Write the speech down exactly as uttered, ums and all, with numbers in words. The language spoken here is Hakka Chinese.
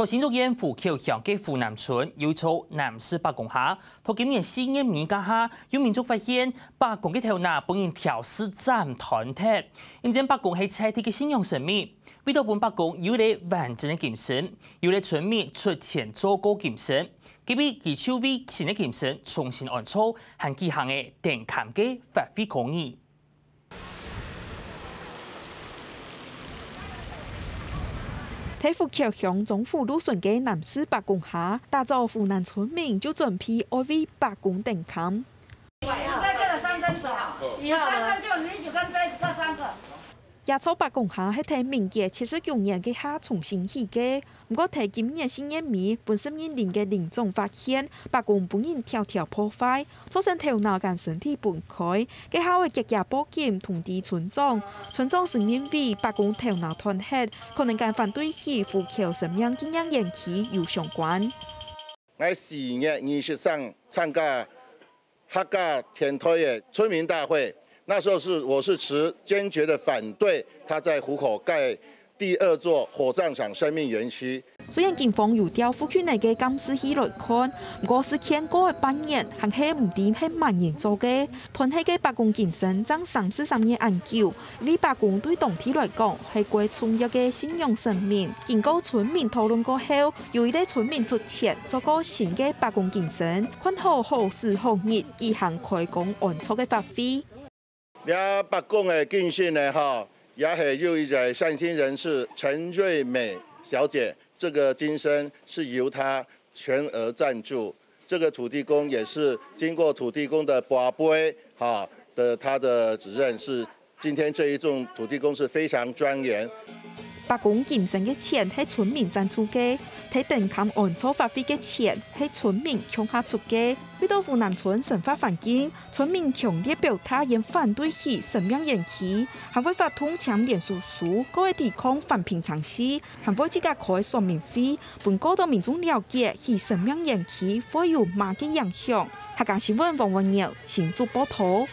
到新竹縣湖口鄉个湖南村有一座南勢伯公下，到今年四月尾該下，有民眾發現伯公个頭那分人挑樹斬斷忒。因為伯公係在地个信仰神明，為著分伯公有一個完整个金身，有一個村民出錢做過金身，今日佢就為新个金身重新安葬，還舉行个登龕个法會考驗。 在湖口鄉中湖路脣个南勢伯公下，打早湖南村民就準備愛為伯公登龕。三個三個走，一號嗎？三個就你就跟杯子各三個。這座伯公下係在民國七十九年該下重新起个， 毋過在今年四月尾，分承蒙人个鄰長發現，伯公分人挑挑破壞，造成頭那摎身體分開。該下愛遽遽報警通知村長，村長就認為伯公頭那斷忒，可能摎反對起湖口生命紀念園區有相關。𠊎四月二十三參加 客家電台个村民大會，那時候是，我是持堅決的反對他在湖口蓋第二座火葬場生命園區。雖然警方有調附近个監視器來看，毋過事件過了半年，還係毋知係麼人做个。斷忒个伯公金身正三十三年恁久， 因為伯公對當地來講係過重要个信仰神明。經過村民討論過後，有一個村民出錢做過新个伯公金身，看好好時好日舉行開光安葬个法會。這伯公个金身呢，哈，也係有一個善心人士陳瑞美小姐，這個金身是由她全額贊助。這個土地公也是經過土地公的跋杯，哈，的，他的指認是 今天這一眾土地公是非常莊嚴。伯公金身个錢係村民贊助个，在登龕安葬法會个錢係村民共下出个。為著湖南村生活環境，村民強烈表達佢等反對起生命園區，還會發動簽連署書，過來抵抗環評程序，還會自家開說明會，分過多民眾了解起生命園區會有麼个影響。客家新聞王文耀新竹報導。